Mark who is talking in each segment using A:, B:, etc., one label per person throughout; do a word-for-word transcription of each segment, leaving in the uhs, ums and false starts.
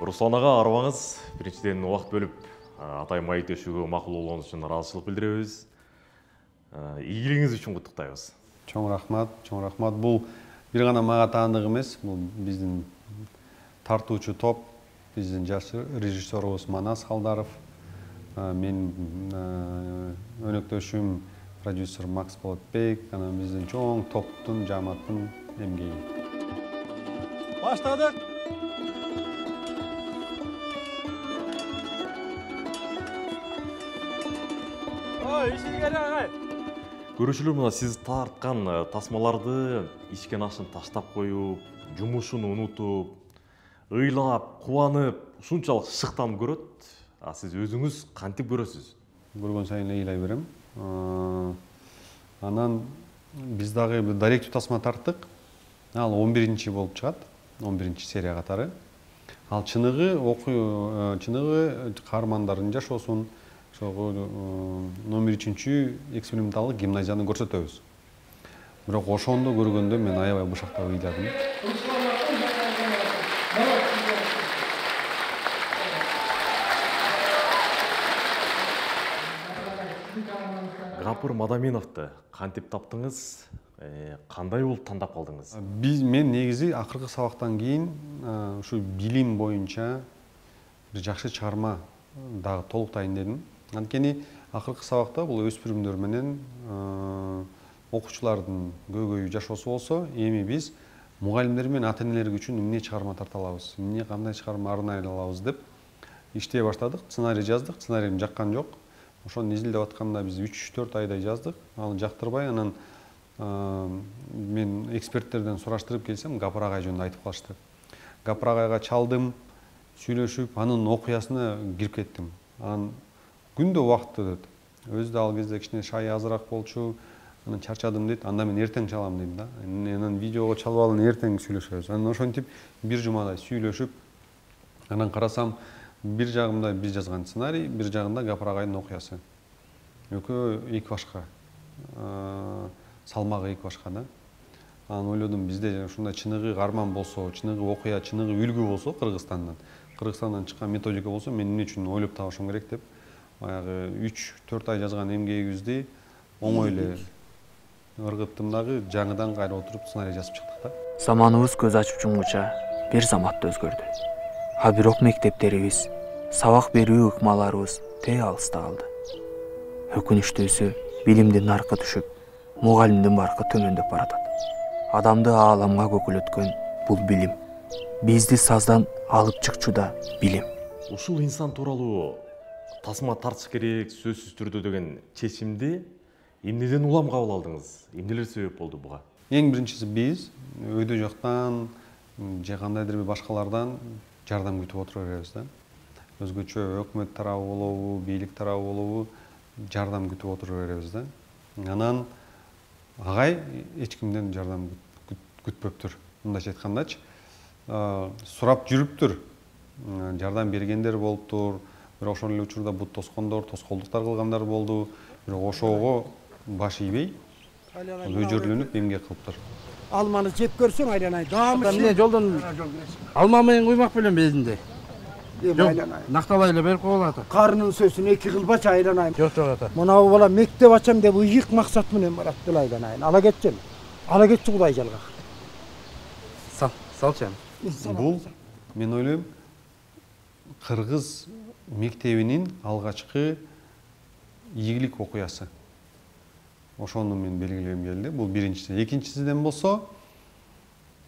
A: Руслан ага, арыбаңыз. Биринчиден убакыт бөлүп атай маектешүүгө макул болгонуңуз үчүн ыраазычылык билдиребиз. Ийгилигиңиз үчүн куттуктайбыз.
B: Чоң рахмат, чоң рахмат. Бул бир гана мага таандык эмес, бул биздин тартуучу топ, биздин жаш режиссерубуз Манас Халдаров, мен өнөктөшүм продюсер Макс Болотбек, анан биздин чоң топтун, жамааттын эмгеги.
C: Баштадык. Ой, ишиңер агай.
A: Көрүүчүлөр, мына сиз тарткан тасмаларды ичкен ашын таштап коюп, жумушун унутуп, ыйлап, кубанып, ушунчалык шыктанып көрөт. А сиз өзүңүз кантип көрөсүз?
B: Көргөн сайын ыйлай берем. Анан биз дагы даректүү тасма тарттык. Ал он биринчи болуп чыгат, он биринчи серия катары. Ал чыныгы окуу, чыныгы каармандардын жашоосун, ошого номер үчүнчү эксперименталдык гимназияны көрсөтөбүз. Бирок ошондо көргөндө мен аябай бушактап ыйладым.
A: Гапыр Мадаминовду кантип таптыңыз? Кандай болуп тандап калдыңыз?
B: Биз мен негизи акыркы сабактан кийин ушу билим боюнча бир жакшы чыгарма дагы толуктайын дедим. Анткени акыркы сабакта бул өспүрүмдөр менен окуучулардын көйгөйү жашоосу болсо, эми биз мугалимдер менен ата-энелер үчүн эмне чыгарма тарта алабыз, эмне кандай чыгарма арнай алабыз деп иштей баштадык. Сценарий жаздык, сценариym жаккан жок. Ошону изилдеп атканда биз үч төрт айдай жаздык. Аны жактырбай, анан мен эксперттерден сураштырып келсем, Гапыр агай жөнүндө айтып калышты. Гапыр агайга чалдым, сүйлөшүп, анын окуясына кирип кеттим. Анан күндө убакыт өтөт. Өзү да ал кезде кичине шай азыраак болчу, анан чарчадым дейт. Анда мен эртең чалам дейм да. Анан видеого чалып алып эртең сүйлөшөбүз. Анан ошентип бир жумадай сүйлөшүп, анан карасам, бир жагымда биз жазган сценарий, бир жагында Гапыр агайдын окуясы. Экөө эки башка. Салмагы эки башка да. Анан ойлодум, бизде ушундай чыныгы каарман болсо, чыныгы окуя, чыныгы үлгү болсо Кыргызстандан, Кыргызстандан чыккан методика болсо, мен эмне үчүн ойлоп табышым керек деп, баягы үч төрт ай жазган эмгегибизди оңой эле ыргыттым дагы, жаңыдан кайра отуруп сценарий жазып чыктык да.
D: Заманыбыз көз ачып жумгуча бир заматта өзгөрдү. А бирок мектептерибиз, сабак берүү ыкмаларыбыз тээ алыста калды. Өкүнүчтүүсү, билимдин наркы түшүп, мугалимдин баркы төмөндөп баратат. Адамды ааламга көкүлөткөн бул билим. Бизди саздан алып чыкчу да билим.
A: Ушул инсан тууралуу тасма тартыш керек сөзсүз түрдө деген чечимди эмнеден улам кабыл алдыңыз? Эмнелер себеп болду буга?
B: Эң биринчиси биз өйдө жоктан же кандайдыр бир башкалардан жардам күтүп отура беребиз да. Өзгөчө өкмөт тарабы болобу, бийлик тарабы болобу, жардам күтүп отура беребиз да. Анан агай эч кимден жардам күтпөптүр. Мындайча айткандачы, сурап жүрүптүр. Жардам бергендер болуптур, бирок ошол эле учурда бут тоскондор, тоскоолдуктар кылгандар болду. Бирок ошого баш ийбей, өжөрлөнүп эмгек кылыптыр.
C: Алманы жеп көрсөң айланай. Даамы
E: эмне жолдон алма менен куймак белем безинде. Накталай эле берип коюлат.
C: Карынын сөзүн эки кылбачы айланай.
E: Жок, жок ата.
C: Мынабу бала мектеп ачам деп ыйык максат менен барат бул айланайын. Ала кетчи. Ала кетчи Кудай жалга.
E: Сал, салчы.
B: Бул мен ойлойм кыргыз мектебинин алгачкы ийгилик окуясы. Ошону мен белгилегим келди. Бул биринчиси. Экинчисиден болсо,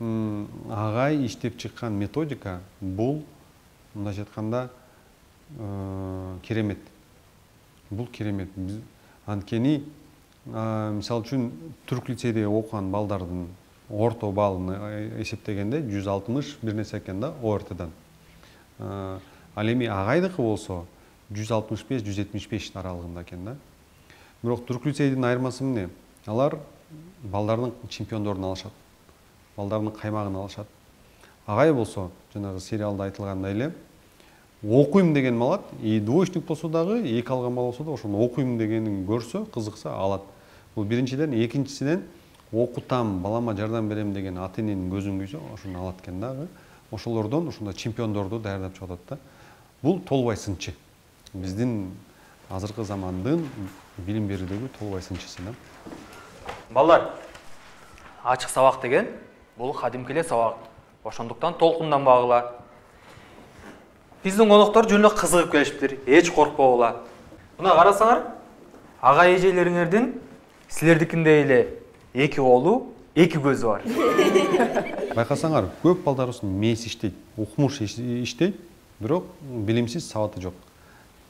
B: агай иштеп чыккан методика бул мындайча айтканда керемет. Бул керемет. Анткени мисалы үчүн түрк лицейде окуган балдардын орто баллын эсептегенде жүз алтымыш бир нерсе экен да о эр тэдан. Ал эми агайдыкы болсо жүз алтымыш беш жүз жетимиш беш аралыгында экен да. Бирок түрк лицейдин айырмасы эмне? Алар балдардын чемпиондорун алышат. Балдардын каймагын алышат. Агай болсо, жанагы сериалда айтылгандай эле, окуйм деген малат, и двоечник болсо дагы, эки алган бала болсо да, ошону окуйм дегенин көрсө, кызыкса алат. Бул биринчиден, экинчисинен окутам, балама жардам берем деген ата-эненин көзүн күйсө, ошону алат экен дагы. ошолордон ушундай чемпиондорду даярдап чыгып атат да. Бул толбай сынчы. Биздин азыркы замандын билим берүүдөгү толбай сынчысы да.
D: Балдар, ачык сабак деген бул кадимки эле сабак. Ошондуктан толкунданбагыла. Биздин коноктор жөн эле кызыгып келишиптир. Эч коркпогула. Мына карасаңар, ага эжелериңердин силердикиндей эле эки колу, эки көзү бар.
B: Байкасаңар, көп балдарыбыздын мээси иштейт, укмуш иштейт, бирок билимсиз, сабаты жок.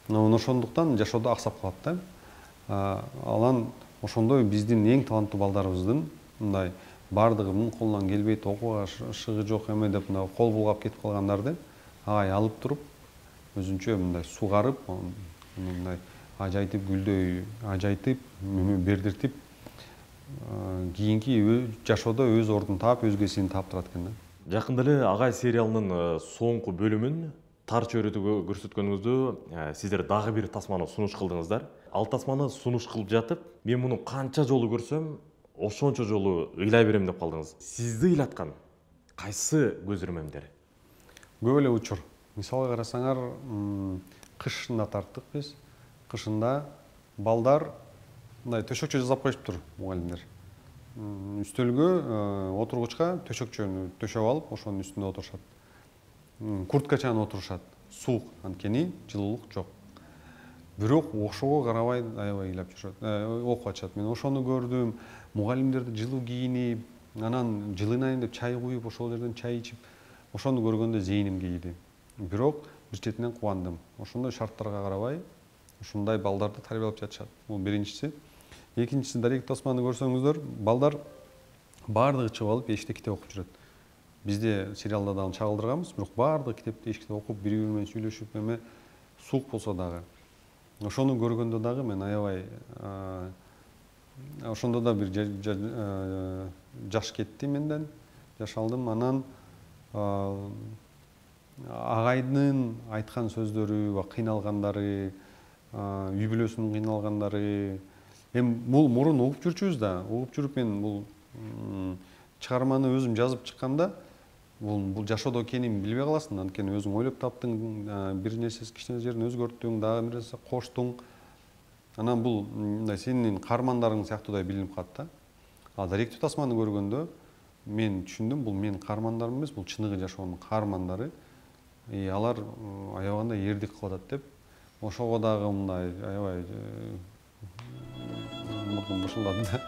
B: Ошондуктан жашоодо аксап калат да. Алан ошондой биздин эң таланттуу балдарыбыздын мындай бардыгынын колунан келбейт, окууга шыгы жок эме деп мына кол булгап кетип калгандарды агай алып туруп, өзүнчө мындай сугарып, мындай ажайтып гүлдөй, ажайтып, бердиртип, кийинки жашоодо өз ордун таап, өзгесин таап турат экен да.
A: Жакында эле Агай сериалынын соңку бөлүмүн тар чөйрөдө көрсөткөнүңүздө сиздер дагы бир тасманы сунуш кылдыңыздар. Ал тасманы сунуш кылып жатып, мен муну канча жолу көрсөм, ошончо жолу ыйлай берем деп калдыңыз. Сизди ыйлаткан кайсы көз ирмемдер?
B: Көп эле учур. Мисалга карасаңар, кышында тарттык биз. Кышында балдар мындай төшөкчө жасап коюшуптур мугалимдер. Үстөлгө, отургучка төшөкчөнү төшөп алып, ошонун үстүндө отурушат. Курткачаны отурушат. Суук, анткени жылуулук жок. Бирок ошого карабай аябай ыйлап жүрүшөт, окуп атышат. Мен ошону көрдүм. Мугалимдерди жылуу кийинип, анан жылынайын деп чай куюп, ошол жерден чай ичип, ошону көргөндө зээним кейиди. Бирок бир четинен кубандым. Ошондой шарттарга карабай, ушундай балдарды тарбиялап жатышат. Бул биринчиси. Экинчиси, Дарек тасманы көрсөңүздөр, балдар баардыгы чыгып алып эшикте китеп окуп жүрөт. Бизде сериалда дагы чагылдырганбыз, бирок баардыгы китепти эшикте окуп, бири-бири менен сүйлөшүп, эме суук болсо дагы. Ошону көргөндө дагы мен аябай ошондо да бир жаш кетти менден, жаш алдым. Анан агайдын айткан сөздөрү, кыйналгандары, үй бүлөсүнүн кыйналгандары, эми бул мурун угуп жүрчүбүз да, угуп жүрүп мен бул чыгарманы өзүм жазып чыкканда, бул бул жашоодо экенин билбей каласың, анткени өзүң ойлоп таптың, бир нерсе кичине жерин өзгөрттүң, дагы бир нерсе коштуң. Анан бул мындай сенин каармандарың сыяктуудай билинип калат да. А Даректүү тасманы көргөндө мен түшүндүм, бул менин каармандарым эмес, бул чыныгы жашоонун каармандары. И алар аябагандай эрдик кылып атат деп, ошого дагы мындай аябай мурдум бушулдады да.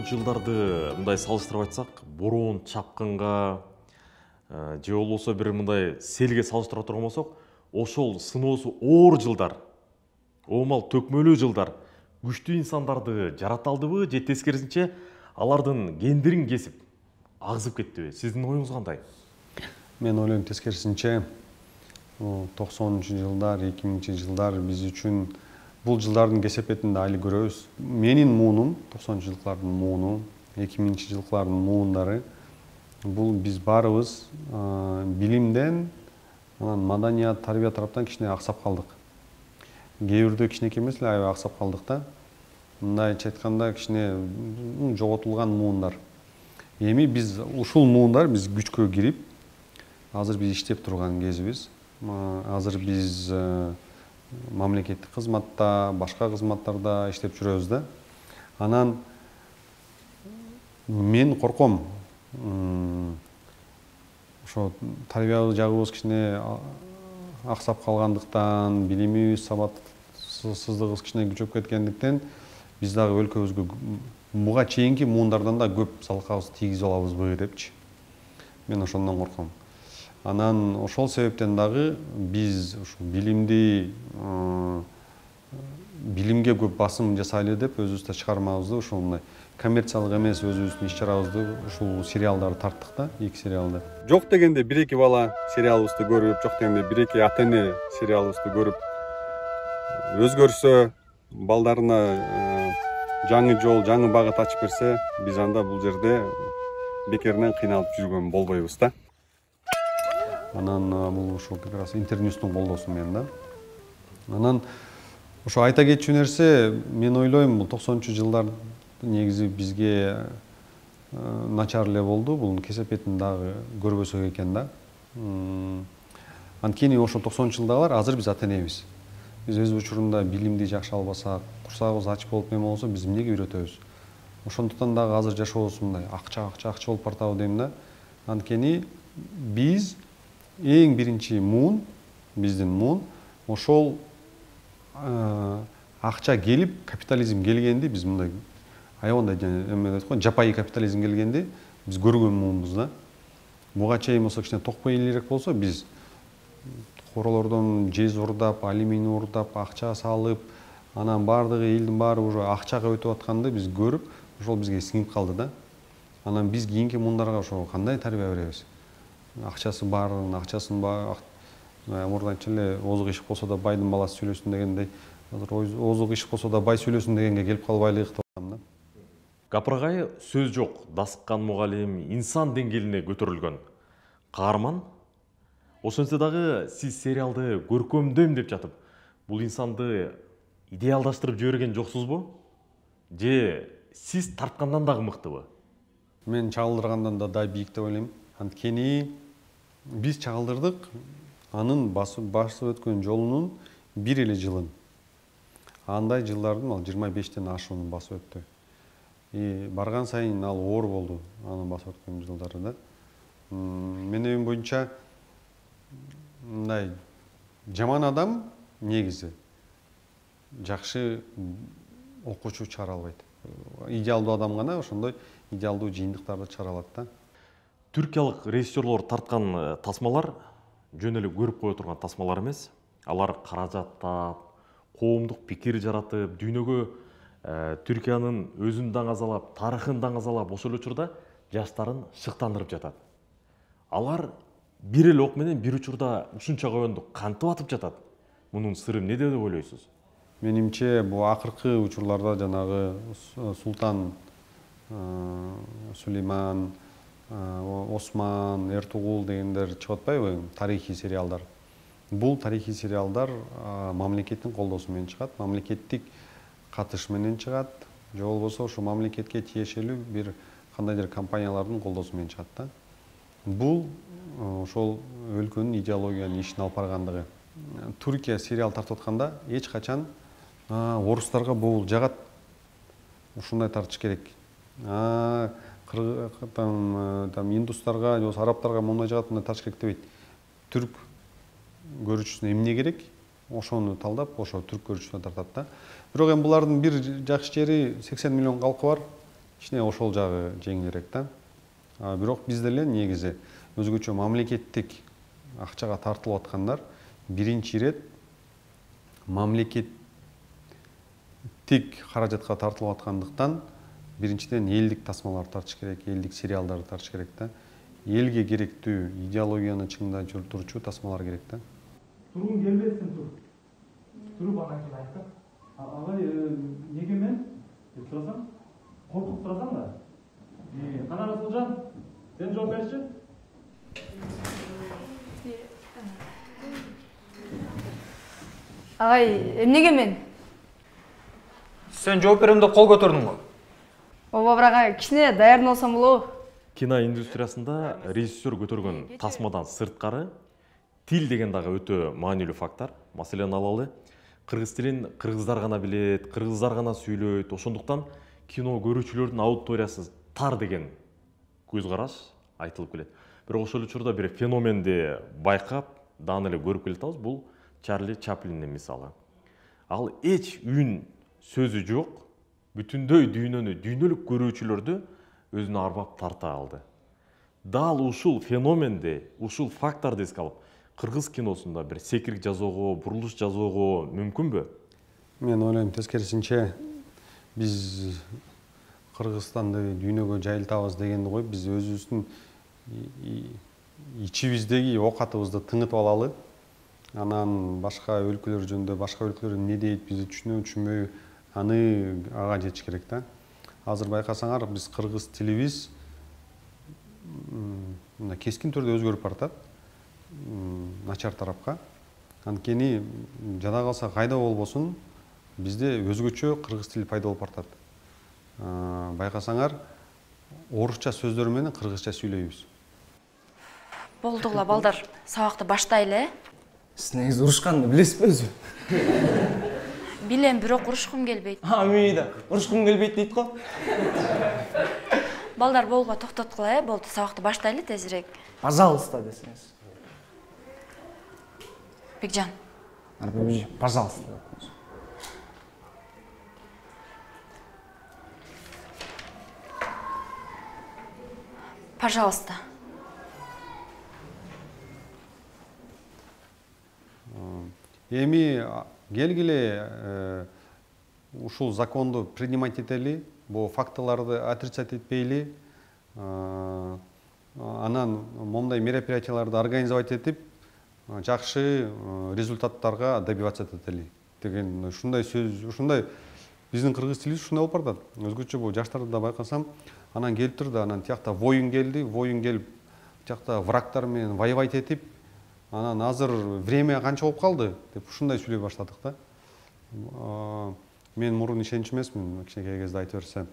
A: Жылдарды мындай салыштырып айтсак, бороон чапкынга же болбосо бир мындай селге салыштырып турган болсок, ошол сыноосу оор жылдар, оомал төкмөлүү жылдар күчтүү инсандарды жарата алдыбы же тескерисинче алардын гендерин кесип агызып кеттиби? Сиздин оюңуз кандай?
B: Мен ойлойм тескерисинче, токсонунчу жылдар, эки миңинчи жылдар биз үчүн бул жылдардын кесепетинде али көрөбүз. Менин муунум, токсонунчу жылдардын мууну, эки миңинчи жылдардын муундары, бул биз баарыбыз билимден, анан маданият, тарбия тараптан кичине аксап калдык. Кээ бирдө кичинекей эмес эле аябай аксап калдык да. Мындайча айтканда кичине жоготулган муундар. Эми биз ушул муундар биз күчкө кирип, азыр биз иштеп турган кезибиз. Азыр биз мамлекеттик кызматта, башка кызматтарда иштеп жүрөбүз да. Анан мен корком, ошо тарбия жагыбыз кичине аксап калгандыктан, билимибиз, сабатсыздыгыбыз кичине күчөп кеткендиктен, биз дагы өлкөбүзгө буга чейинки муундардан да көп залкабыз тийгизе алабызбы депчи. мен ошондон корком. Анан ошол себептен дагы биз ушу билимди билимге көп басым жасайлы деп өзүбүздө чыгармабызды ушул мындай коммерциялык эмес өзүбүздүн иш чарабызды ушул сериалдарды тарттык да, эки сериалды. Жок дегенде бир эки бала сериалыбызды көрүп, жок дегенде бир эки ата эне сериалыбызды көрүп өзгөрсө, балдарына жаңы жол, жаңы багыт ачып берсе, биз анда бул жерде бекеринен кыйналып жүргөн болбойбуз да. Анан бул ушул как раз Интерньюстун колдоосу менен да. Анан ошо айта кетчү нерсе, мен ойлойм, бул токсонунчу жылдар негизи бизге начар эле болду. Бул кесепетин дагы көрбөсөк экен да. Анткени ошо токсонунчу жылдагылар азыр биз ата энебиз. Биз өз учурунда билимди жакшы албасак, курсагыбыз ач болуп эме болсо, биз эмнеге үйрөтөбүз? Ошондуктан дагы азыр жашообуз мындай акча, акча, акча болуп бартабы дейм да. Анткени биз эң биринчи муун, биздин муун ошол акча келип, капитализм келгенди биз мындай аябандай эме дейт го, жапайы капитализм келгенди биз көргөн муунбуз да. Буга чейин болсо кичине токпой элерээк болсо, биз королордон жез урдап, алюминий урдап, акча салып, анан баардыгы элдин баары уже акчага өтүп атканды биз көрүп, ошол бизге сиңип калды да. Анан биз кийинки муундарга ошо кандай тарбия беребиз? Акчасы барын, акчасын мурда айтчу эле, озук ишик болсо да байдын баласы сүйлөсүн дегендей, азыр озук ишик болсо да бай сүйлөсүн дегенге келип калбайлык деп атам да.
A: Капыргай сөз жок, Дасыккан мугалим инсан деңгээлине көтөрүлгөн каарман. Ошентсе дагы сиз сериалды көркөмдөйм деп жатып, бул инсанды идеалдаштырып жиберген жоксузбу? Же сиз тарткандан дагы мыктыбы?
B: Мен чагылдыргандан да да бийик деп ойлойм. Анткени биз чагылдырдык анын басып өткөн жолунун бир эле жылын. Андай жылдардын ал жыйырма бештен ашуун басып өттү. И барган сайын ал оор болду, анын басып өткөн жылдары да. Менин оюм боюнча мындай жаман адам негизи жакшы окуучу чыгара албайт. Идеалдуу адам гана ошондой идеалдуу жыйынтыктарды чыгара алат да.
A: Түркиялык режиссерлор тарткан тасмалар жөн эле көрүп кое турган тасмалар эмес. Алар каражаттап, коомдук пикир жаратып, дүйнөгө Түркиянын өзүн даңазалап, тарыхын даңазалап, ошол учурда жаштарын шыктандырып жатат. Алар бир эле ок менен бир учурда ушунча коёнду кантип атып жатат? Мунун сыры эмнеде деп ойлойсуз?
B: Менимче бул акыркы учурларда жанагы Султан, Сулейман, Осман, Эртугул дегендер чыгып атпайбы? Тарыхый сериалдар. Бул тарыхый сериалдар мамлекеттин колдоосу менен чыгат, мамлекеттик катыш менен чыгат, же болбосо ошо мамлекетке тиешелүү бир кандайдыр компаниялардын колдоосу менен чыгат да. Бул ошол өлкөнүн идеологиянын ишин алып баргандыгы. Түркия сериал тартып атканда эч качан орустарга боул жагат, ушундай тартыш керек. Там индустарга, же болбосо арабтарга моундай жагат, мындай тартыш керек дебейт. Түрк көрүүчүсүнө эмне керек? Ошону талдап, ошо түрк көрүүчүсүнө тартат да. Бирок эми булардын бир жакшы жери сексен миллион калкы бар. Кичине ошол жагы жеңилирээк да. Бирок биз деле негизи өзгөчө мамлекеттик акчага тартылып аткандар биринчи ирет мамлекеттик каражатка тартылып аткандыктан биринчиден элдик тасмаларды тартыш керек, элдик сериалдарды тартыш керек да. Элге керектүү идеологияны чыңдап турчу тасмалар керек да.
F: Тургун келбесин тур. Туруп анан кийин айттым. Агай, неге мен? деп сурасам, коркуп турасаң да. Кана Расулжан, сен жооп берчи.
G: Агай, эмнеге мен?
D: Сен жооп берем деп кол көтөрдүң го.
G: Ооба, бирок агай, кичине даярдалсам болобу?
A: Кино индустриясында режиссер көтөргөн тасмадан сырткары тил деген дагы өтө маанилүү фактор. Маселен алалы, кыргыз тилин кыргыздар гана билет, кыргыздар гана сүйлөйт. Ошондуктан кино көрүүчүлөрдүн аудиториясы тар деген көз караш айтылып келет. Бирок ошол учурда бир феноменди байкап, даан эле көрүп келатабыз. Бул Чарли Чаплиндин мисалы. Ал эч үн сөзү жок, бүтүндөй дүйнөнү, дүйнөлүк көрүүчүлөрдү өзүнө арбап тарта алды. дал ушул феноменди, ушул факторду эске алып, кыргыз киносунда бир секирик жасоого, бурулуш жасоого мүмкүнбү?
B: Мен ойлойм тескерисинче, биз Кыргызстанды дүйнөгө жайылтабыз дегенди коюп, биз өзүбүздүн ичибиздеги оокатыбызды тыңытып алалы. Анан башка өлкөлөр жөнүндө, башка өлкөлөр эмне дейт, бизди түшүнөбү, түшүнбөйбү, аны ага жетиш керек да. Азыр байкасаңар, биз кыргыз тилибиз кескин түрдө өзгөрүп баратат, начар тарапка. Анткени жада калса кайда болбосун, бизде өзгөчө кыргыз тили пайда болуп баратат. Байкасаңар, орусча сөздөр менен кыргызча сүйлөйбүз.
H: Болдугула балдар, сабакты баштайлы, э?
I: Сиз негизи урушканды билесизби өзү?
H: Билем, бирок урушкум келбейт.
I: А, мени да урушкум келбейт дейт го.
H: Балдар, болго токтоткула, э? Болду, сабакты баштайлы тезирээк.
I: Пожалуйста десеңиз.
H: Бекжан.
I: Пожалуйста.
H: Пожалуйста.
B: Эми келгиле ушул законду принимать этели, бул фактыларды отрицать этпейли, анан момундай мероприятияларды организовать этип, жакшы результаттарга добиваться этели деген ушундай сөз, ушундай биздин кыргыз тилибиз ушундай болуп баратат. Өзгөчө бул жаштарды да байкасам, анан келип турду, анан тиякта воюн келди, воюн келип, тиякта врагтар менен воевать этип, анан азыр время канча болуп калды деп ушундай сүйлөй баштадык да. Мен мурун ишенч эмесмин, кичинекей кезде айта берсе,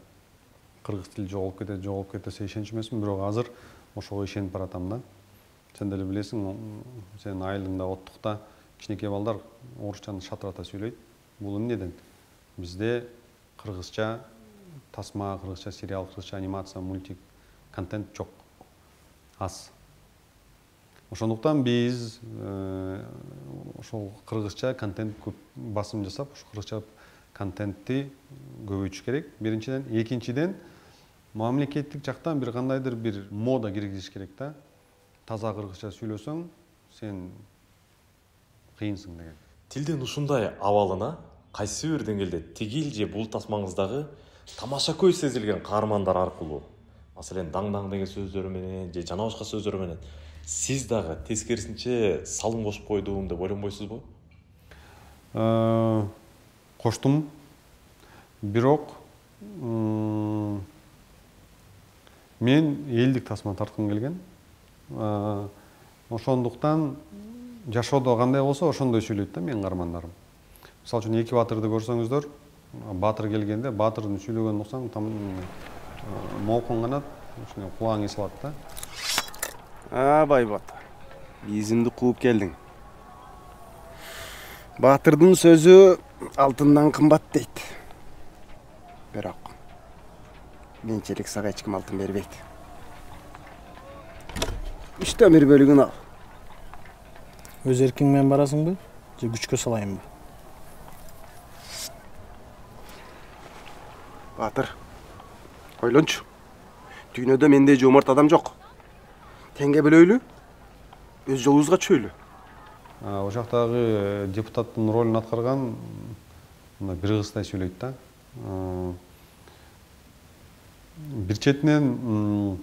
B: кыргыз тили жоголуп кетет, жоголуп кетет десе ишенч эмесмин, бирок азыр ошого ишенип баратам да. Сен деле билесиң, сенин айылыңда, оттукта кичинекей балдар орусчаны шатырата сүйлөйт. Бул эмнеден? Бизде кыргызча тасма, кыргызча сериал, кыргызча анимация, мультик, контент жок. Аз. Ошондуктан биз ошол кыргызча контент көп басым жасап, ошол кыргызча контентти көбөйтүш керек. Биринчиден, экинчиден, мамлекеттик жактан бир кандайдыр бир мода киргизиш керек да. Таза кыргызча сүйлөсөң, сен кыйынсың деген.
A: Тилдин ушундай абалына кайсы бир деңгээлде тигил же бул тасмаңыздагы тамаша көз сезилген каармандар аркылуу, маселен, даң-даң деген сөздөр менен же жана башка сөздөр менен сиз дагы тескерисинче салым кошуп койдум деп ойлонбойсузбу?
B: Коштум. Бирок мен элдик тасма тарткым келген. Ошондуктан жашоодо кандай болсо ошондой сүйлөйт да менин каармандарым. Мисалы үчүн эки баатырды көрсөңүздөр, баатыр келгенде баатырдын сүйлөгөнүн уксаң, там молкон канат, ушуну кулагың эсип алат да.
J: А, байбата, изимди кууп келдиң. Баатырдын сөзү алтындан кымбат дейт. Бирок менчилик сага эч ким алтын бербейт. Үчтөн бир бөлүгүн ал.
I: Өз эркиң менен барасыңбы, же күчкө салайынбы?
J: Баатыр, ойлончу. Дүйнөдө мендей жомарт адам жок. Теңге бөлөйлү, өз жолубузга чөйлү.
B: О жактагы депутаттын ролун аткарган бир кыздай сүйлөйт да. Бир четинен,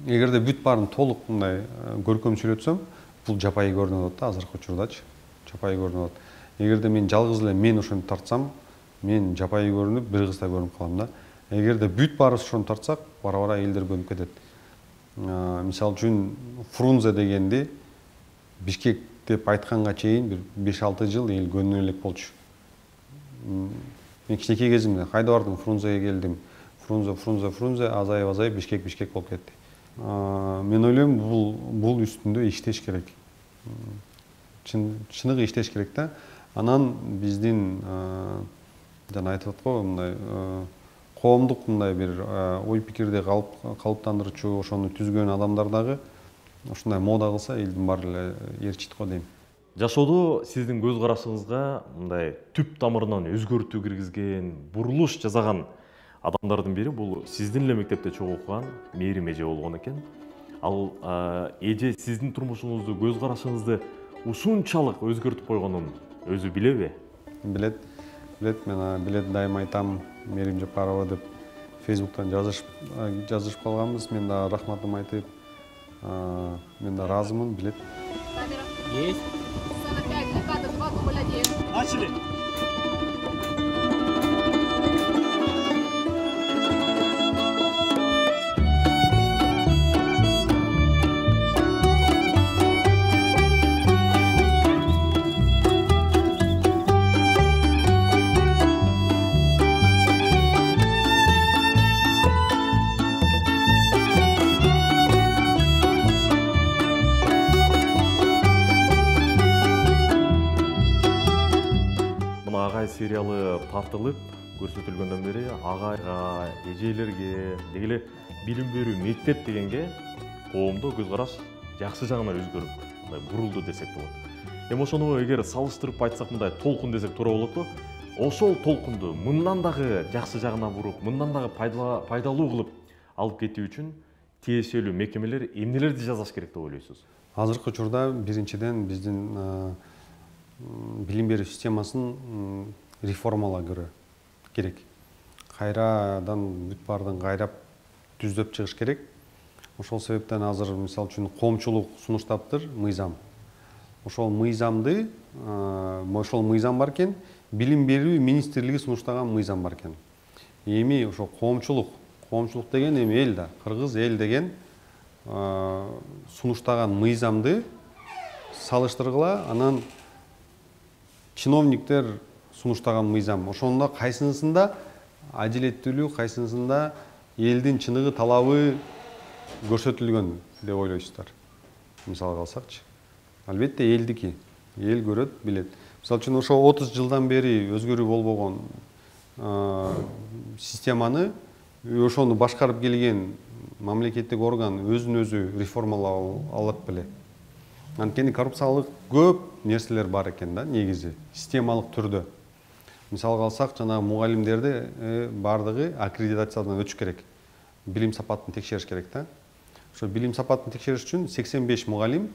B: эгерде бүт баарын толук мындай көркөм сүйлөтсөм, бул жапайы көрүнүп атат да, азыркы учурдачы. Жапайы көрүнүп атат. Эгерде мен жалгыз эле мен ошону тартсам, мен жапайы көрүнүп, бир кыздай көрүнүп калам да. Эгерде бүт баарыбыз ошону тартсак, бара-бара элдер көнүп кетет. Мисалы үчүн Фрунзе дегенди Бишкек деп айтканга чейин бир беш алты жыл эл көнүнө элек болчу. Мен кичинекей кезимде кайда бардым, Фрунзеге келдим. Фрунзе, Фрунзе, Фрунзе, азайып, азайып, Бишкек, Бишкек болуп кетти. Мен ойлойм, бул бул үстүндө иштеш керек. Чыныгы иштеш керек да. Анан биздин жана айтып аткан мындай коомдук мындай бир ой пикирди калыптандырчу, ошону түзгөн адамдар дагы ушундай мода кылса, элдин баары эле ээрчийт го дейм.
A: Жашоодо сиздин көз карашыңызга мындай түп тамырынан өзгөртүү киргизген, бурулуш жасаган адамдардын бири бул сиздин эле мектепте чогуу окуган Мээрим эже болгон экен. Ал эже сиздин турмушуңузду, көз карашыңызды ушунчалык өзгөртүп койгонун өзү билеби?
B: Билет. Билет, мен билет дайыма айтам, Мерим Жапарова деп Фейсбуктан жазышып жазышып калганбыз. Мен да рахматымды айтып, мен да ыраазымын, билет.
K: Есть. Начали.
A: Сериалы тартылып көрсөтүлгөндөн бери агайга, эжелерге, деги эле билим берүү мектеп дегенге коомдо көз караш жакшы жагына өзгөрүп, мындай бурулду десек болот. Эми ошону эгер салыштырып айтсак, мындай толкун десек туура болотпу? Ошол толкунду мындан дагы жакшы жагына буруп, мындан дагы пайдалуу кылып алып кетүү үчүн тиешелүү мекемелер эмнелерди жасаш керек деп ойлойсуз?
B: Азыркы учурда биринчиден биздин билим берүү системасын реформалоо керек. Кайрадан бүт баардыгын кайрап түздөп чыгыш керек. Ошол себептен азыр мисалы үчүн коомчулук сунуштаптыр мыйзам. Ошол мыйзамды, ошол мыйзам бар экен, билим берүү министрлиги сунуштаган мыйзам бар экен. Эми ошол коомчулук, коомчулук деген эми эл да, кыргыз эл деген сунуштаган мыйзамды салыштыргыла, анан чиновниктер сунуштаган мыйзам, ошондо кайсынысында адилеттүүлүк, кайсынысында элдин чыныгы талабы көрсөтүлгөн деп ойлойсуздар? Мисалга алсакчы, албетте элдики, эл көрөт, билет. Мисалы үчүн ошо отуз жылдан бери өзгөрүү болбогон системаны, ошону башкарып келген мамлекеттик орган өзүн өзү реформалап алат беле. Анткени коррупциялык көп нерселер бар экен да, негизи, системалык түрдө. Мисалга алсак, жана мугалимдерди бардыгы аккредитациядан өтүш керек. Билим сапатын текшериш керек да. Ошо билим сапатын текшериш үчүн сексен беш мугалим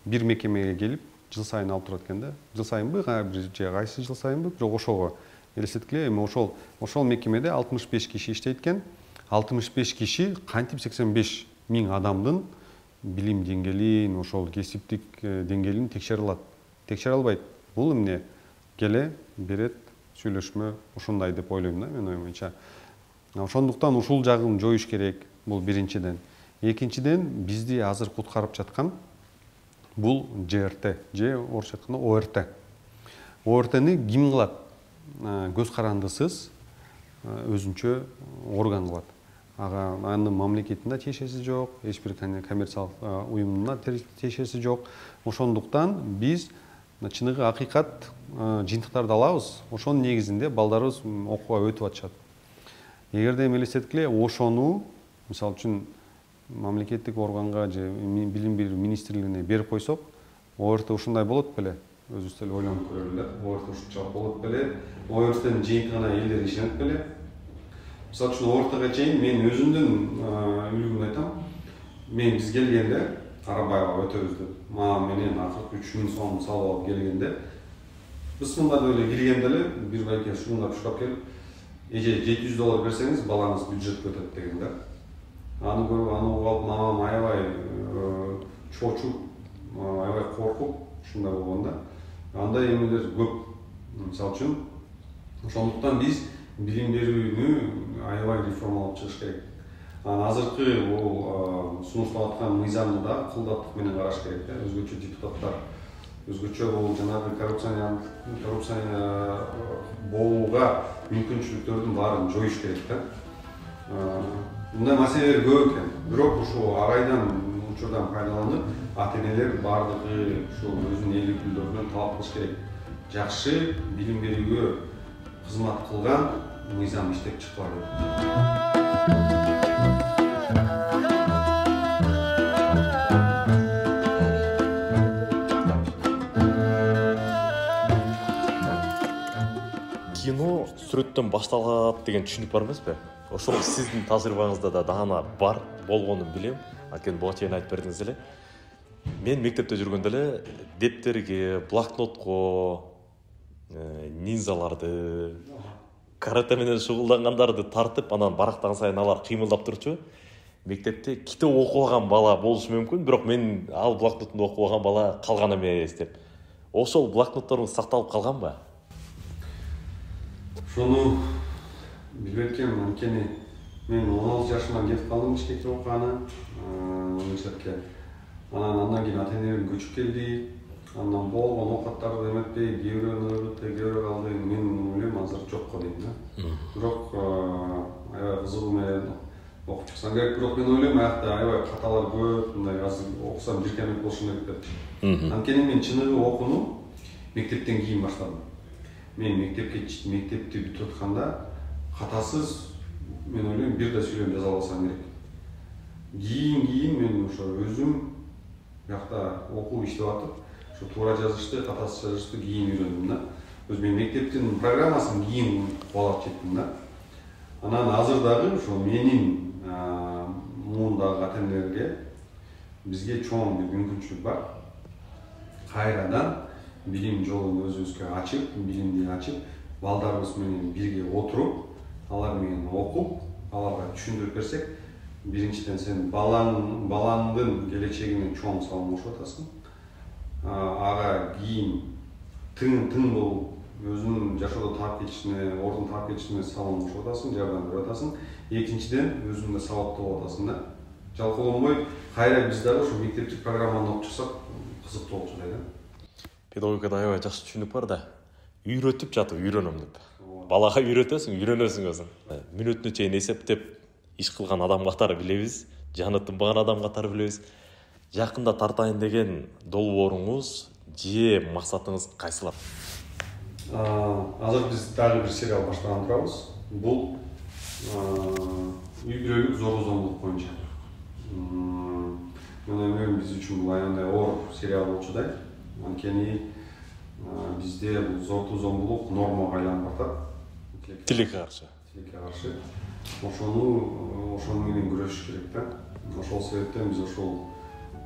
B: бир мекемеге келип, жыл сайын алып турат экен да. Жыл сайынбы, же кайсы жыл сайынбы, бирок ошого элестеткиле, эми ошол ошол мекемеде алтымыш беш киши иштейт экен. алтымыш беш киши кантип сексен беш миң адамдын билим деңгээлин, ошол кесиптик деңгээлин текшере алат? Текшере албайт. Бул эмне? Келе берет, сүйлөшмө ушундай деп ойлойм да, мен оюмча. Ошондуктан ушул жагын жоюш керек, бул биринчиден. Экинчиден, бизди азыр куткарып жаткан бул Ж Р Т, же орусча айтканда О Р Т. О Р Тни ким кылат? Көз карандысыз өзүнчө орган кылат. Ага анын мамлекетинде тиешеси жок, эч бир коммерциялык уюмунда тиешеси жок. Ошондуктан биз чыныгы акыйкат жыйынтыктарды алабыз, ошонун негизинде балдарыбыз окууга өтүп атышат. Эгерде эми элестеткиле, ошону мисалы үчүн мамлекеттик органга же билим берүү министрлигине берип койсок, О Р Т ушундай болот беле? Өзүбүз деле ойлонуп көрөлү. О Р Т ушунчалык болот беле? О Р Т'нин жыйынтыгына элдер ишенет беле? Мисалы үчүн О Р Тга чейин мен өзүмдүн үлгүмдү айтам. Мен биз келгенде Арабаева өтөбүз деп, мага менен акыркы үч миң сом салып алып келгенде, биз мында эле киргенде эле бир байке шуңдап шукап келип, эже жети жүз доллар берсеңиз балаңыз бюджетке өтөт деген да. Аны көрүп, аны угуп алып, мамам аябай чочуп, аябай коркуп, ушундай болгон да. Андай эмелер көп. Мисалы үчүн, ошондуктан биз билим берүүнү аябай реформалап чыгыш керек. Азыркы бул сунушталып аткан мыйзамды да кылдаттык менен караш керек да. Өзгөчө депутаттар, өзгөчө бул жанагы коррупция коррупция болууга мүмкүнчүлүктөрдүн баарын жоюш керек да. Мындай маселелер көп экен. Бирок ушул арайдан учурдан пайдаланып, ата-энелер бардыгы ушул өзүнүн эл өкүлдөрүнөн талап кылыш керек. Жакшы билим берүүгө кызмат кылган мыйзам иштеп чыккыла деп.
A: Кино сүрөттөн башталат деген түшүнүк бар эмеспи? Ошол сиздин тажрыйбаңызда да даана бар болгонун билем. Анткени буга чейин айтып бердиңиз эле. Мен мектепте жүргөндө эле дептерге, блокнотко, нинзаларды, карате менен шугулдангандарды тартып, анан барактаган сайын алар кыймылдап турчу. Мектепте китеп окубаган бала болушу мүмкүн, бирок мен ал блокнотунду окубаган бала калган эмес деп. Ошол блокнотторуңуз сакталып калганбы?
B: Ошону билбей эткем, анткени мен он алты жашымдан кетип калдым Бишкекке окуганы, университетке. Анан андан кийин ата-энем көчүп келди. Андан болгон оокаттарды эметпей, кээ бирөөнү ойготпой, кээ бирөө калды. Мен ойлойм азыр жокко дейм да. Бирок аябай кызыгуу менен окуп чыксам керек. Бирок мен ойлойм аякта аябай каталар көп, мындай азыр окусам жиркенет болушум керек деп. Анткени мен чыныгы окууну мектептен кийин баштадым. Мен мектепке мектепти бүтүп атканда катасыз мен ойлойм бир да сүйлөм жаза алсам керек. Кийин кийин мен ошо өзүм бияқта окуу иштеп атып, ошо туура жазышты, катасыз жазышты кийин үйрөндүм да. Өз мен мектептин программасын кийин кубалап чектим да. Анан азыр дагы ошо менин муундагы ата-энелерге бизге чоң бир мүмкүнчүлүк бар. Кайрадан билим жолун өзүбүзгө ачып, билимди ачып, балдарыбыз менен бирге отуруп, алар менен окуп, аларга түшүндүрүп берсек, биринчиден сен балаң балаңдын келечегине чоң салым кошуп атасың. Ага кийин тың тың болуп, өзүнүн жашоодо таап кетишине, ордун таап кетишине салым кошуп атасың, жардам берип атасың. Экинчиден өзүң да сабаттуу болуп атасың да. Жалкоолонбой, кайра биз дагы ошо мектептик программаны окуп чыксак, кызыктуу болчу да.
A: Педагогикада аябай жакшы түшүнүк бар да. Үйрөтүп жатып үйрөнөм деп. Балага үйрөтөсүң, үйрөнөсүң өзүң. Мүнөтүнө чейин эсептеп иш кылган адам катары билебиз, жаны тынбаган адам катары билебиз. Жакында тартайын деген долбооруңуз же максатыңыз кайсылар?
B: Азыр биз дагы бир сериал баштаган турабыз. Бул үй бүлөлүк зорлук зомбулук боюнча. Мен ойлойм биз үчүн бул аябай оор сериал болчу да. Анткени бизде бул зорлук зомбулук нормага айланып атат.
A: Тилекке каршы.
B: Тилекке каршы. Ошону ошону менен күрөшүш керек да. Ошол себептен биз ошол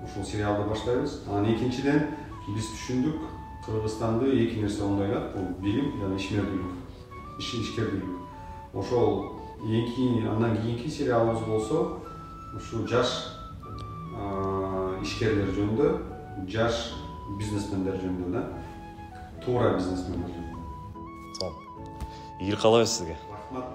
B: ошол сериалды баштайбыз. Анан экинчиден биз түшүндүк, Кыргызстанды эки нерсе оңдойт, бул билим жана ишмердүүлүк, иш ишкердүүлүк. Ошол эки андан кийинки сериалыбыз болсо, ушу жаш ишкерлер жөнүндө, жаш бизнесмендер жөнүндө да. Туура бизнесмендер жөнүндө.
A: Сол. Ийгилик каалайбыз сизге.
B: Рахмат.